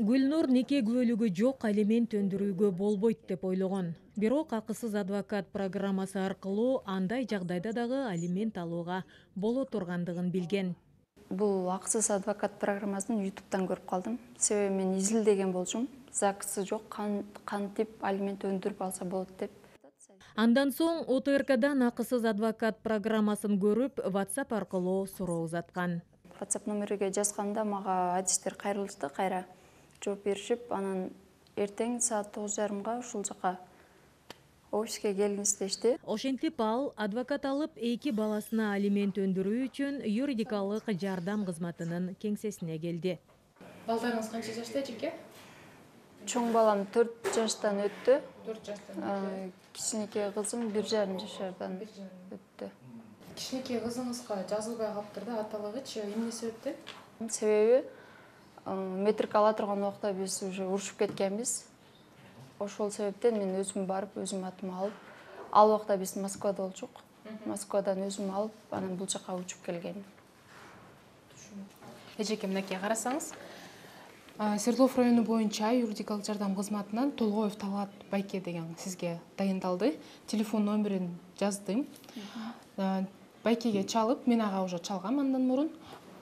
Гүлнур нике күбөлүгү жок алимент өндүрүүгө болбойт деп ойлогон. Бирок акысыз адвокат программасы аркылуу андай жагдайда дагы алимент алууга боло тургандыгын билген. Бул акысыз адвокат программасын YouTube'дан көрүп калдым. Себеби мен изилдеген болчумун. ЗАГСы жок, кантип алимент өндүрүп алса болот деп. Андан соң ОТРКдан акысыз адвокат программасын көрүп, WhatsApp аркылуу суроо узаткан. WhatsApp номериге жазганда мага адистер кайрылышты, кайра жооп беришип, анан эртең саат 9:30 ушул жака офиске келиңиз дешти. Ошентип ал адвокат алып 2 баласына алимент өндүрүү үчүн юридикалык жардам кызматынын кеңсесине келди. Балдарыңыз канча жашта эжеке? Чоң балам 4 жаштан өттү. 4 жаштан. Кичинекей кызым 1,5 жашардан өттү. Кичинекей кызыңызга жазылбай калыптыр да, аталыгычы эмне себептен? Себеби метрик ала турган убакта биз уже урушуп кеткенбиз. Ошол себептен мен өзүм барып, өзүм атыма алып, ал убакта биз Москвада болчук. Москвадан өзүм алып, анан бул жака учуп келгенмин. Эжеке, мынакей карасаңыз, Свердлов району боюнча юридикалык жардам кызматынан Толгоев Талгат Байке деген сизге дайындалды. Телефон номерин жаздым. Байкеге чалып, мен ага уже чалгам андан мурун.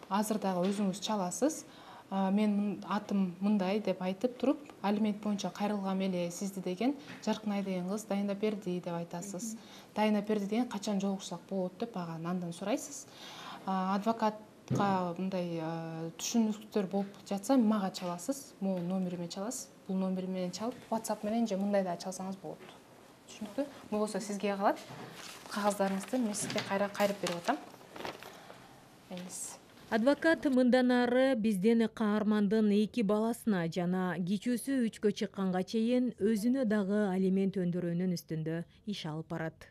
Азыр дагы өзүңүз чаласыз. Мен атым мындай деп айтып туруп, алимент боюнча кайрылгам эле сизди деген Жаркынай деген кыз дайындап берди деп айтасыз. Дайындап берди деген качан жолугушсак болот деп андан сурайсыз. Адвокатка мындай түшүнүктөр болуп жатса, мага чаласыз. Могу номериме чаласыз. Бул номер менен чалып, WhatsApp менен же мындай да чалсаңыз болот. Түшүнүктүү? Бул болсо сизге калат. Кагаздарыңызды мен сизге кайрып берип атам. Адвокат мындан ары бизден каармандын 2 баласына жана кичүүсү 3-кө чыкканга чейин өзүнө дагы алимент өндүрүүнүн үстүндө иш алып барат.